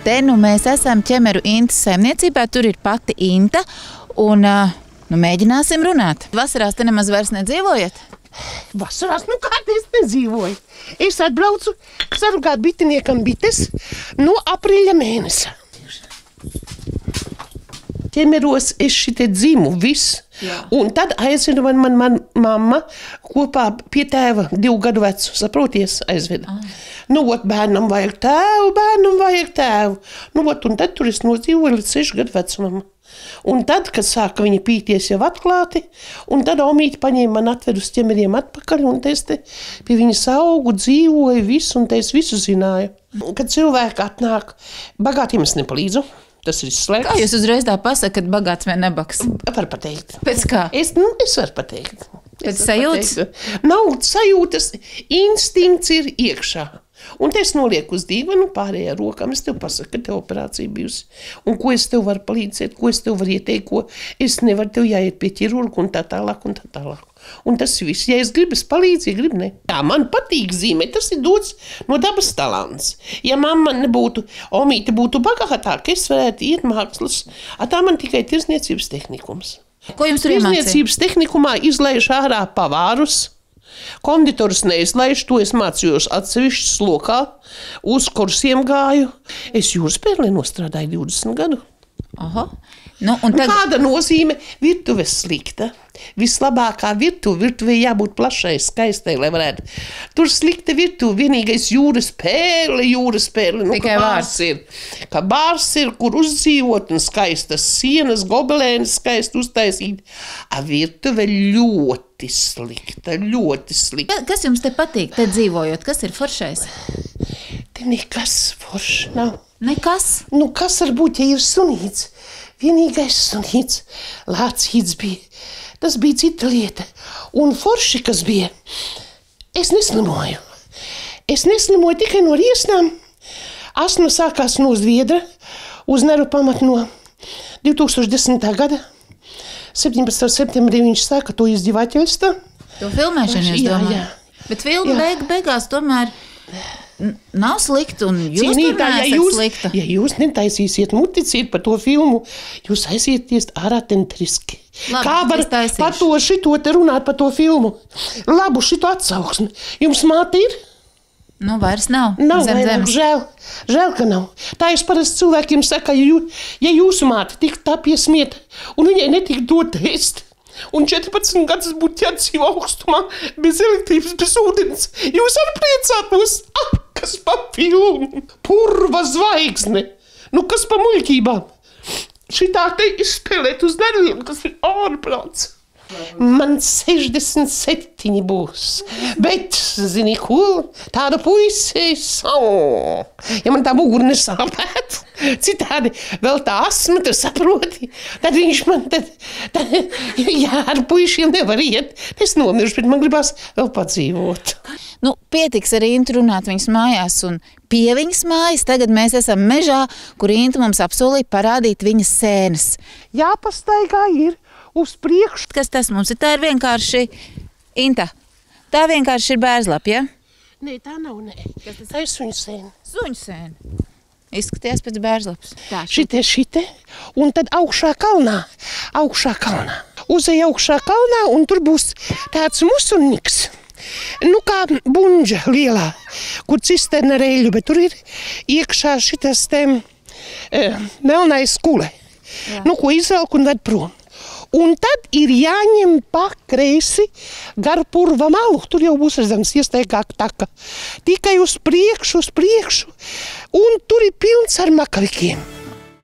Te nu mēs esam ķemeru Intas saimniecībā, tur ir pati Inta, un mēģināsim runāt. Vasarās te nemaz vairs nedzīvojat? Vasarās, kādreiz nedzīvoju. Es atbraucu sargāt bitiniekam bites no aprīļa mēnesa. Ķemeros es šitie dzimu viss. Jā. Un tad aizvedu man mamma kopā pie tēva 2 gadu vecu, saproties, aizveda. Bērnam vajag tēvu. Un tad tur es nodzīvoju līdz 6 gadu vecumam. Un tad, kad sāka viņa pīties jau atklāti, un tad omīte paņēma man atvedu uz ķemeriem atpakaļ, un es te pie viņas augu, dzīvoju visu, un te es visu zināju. Kad cilvēki atnāk, bagātiem es nepalīdzu. Tas ir slēgts. Kā jūs uzreiz tā pasakat, kad bagāts vai nebaks? Var pateikt. Pēc kā? Es varu pateikt. Pēc sajūtas? Nav sajūtas, instinkts ir iekšā. Un te es nolieku uz dīvanu pārējā rokām. Es tev pasaku, ka tev operācija bijusi. Un ko es tev varu palīdzēt, ko es tev varu ieteikt, ko es nevaru, tev jāiet pie ķirurga un tā tālāk un tā tālāk. Un tas viss. Ja es gribu, es palīdzu, ja gribu, ne. Tā man patīk zīmēt, tas ir dots no dabas talants. Ja mamma nebūtu, omīte būtu bagātāka, es varētu iet mākslas. Tā man tikai tirzniecības tehnikums. Ko jums tur iemācīja? Tirzniecības tehnikumā izlaiž ārā pavārus, konditorus neizlaiž, to es mācījos atsevišķi slokā, uz kursiem gāju. Es jūras pērlē nostrādāju 20 gadu. Aha. Kāda nozīme virtuves slikta? Vislabākā virtuvē jābūt plašai, skaistai, lai varētu. Tur slikta virtuve, vienīgais jūras pērle. Tikai vārds ir. Ka bārs ir, kur uzdzīvot un skaistas sienas, gobelēni skaisti uztaisīt. Virtuve ļoti slikta. Kas jums te patīk, te dzīvojot? Kas ir foršais? Te nekas foršs nav. Nekas? Kas var būt, ja ir sunīts? Vienīgais sunīts, lācīts bija. Tas bija cita lieta. Un forši, kas bija, es neslimoju. Es neslimoju tikai no riesnām. Astma sākās no Zviedra uz nervu pamatu no 2010. gada. 17. septembrī viņš sāka to izdzīvāķelstā. To filmēšanu, es domāju. Jā. Bet filma beigās tomēr nav slikta, un jūs Cienītā, tur neesat slikta. Ja jūs netaisīsiet muticīt par to filmu, jūs aizieties ārā tentriski. Labi, kā var par to šito te runāt par to filmu? Labu šito atsauksmi. Jums māte ir? Vairs nav. Nav, žēl, ka nav. Tā es parasti cilvēkiem saka, ja jūsu māte tiktu tā piesmieta, un viņai netiktu dot ēst, un 14 gadus būtu jādzīvo augstumā, bez elektrības, bez ūdens, jūs arī priecātos. Kas pa filmu? Purva zvaigzne. Kas pa muļķībām? Šitā te izspēlēt uz nerviem, tas ir ārprāts. Man 67 būs, bet, zini ko, tāda puisi ja man tā mugura nesāpētu, citādi vēl tā asma, tu saproti, tad viņš man, jā, ar puišiem nevar iet, es nomiršu, bet man gribās vēl padzīvot. Pietiks ar Intu runāt viņas mājās un pie viņas mājas, tagad mēs esam mežā, kur Inta mums apsolīja parādīt viņas sēnes. Jāpastaigā ir. Uz priekšu. Kas tas mums ir? Tā ir vienkārši Inta. Tā vienkārši ir bērzlapa, ja? Nē, tā nav, nē. Tā ir suņsēna. Suņsēna. Izskatījās pēc bērzlapas. Šitie. Un tad augšā kalnā. Uzej augšā kalnā, un tur būs tāds musurniks. Kā bunģa lielā, kur cisterna ar eļļu, bet tur ir iekšā šitas melnais kule. Ko izvelk un ved prom. Un tad ir jāņem pa kreisi gar purva malu. Tur jau būs redzams iestaigāk taka. Tikai uz priekšu. Un tur ir pilns ar makavikiem.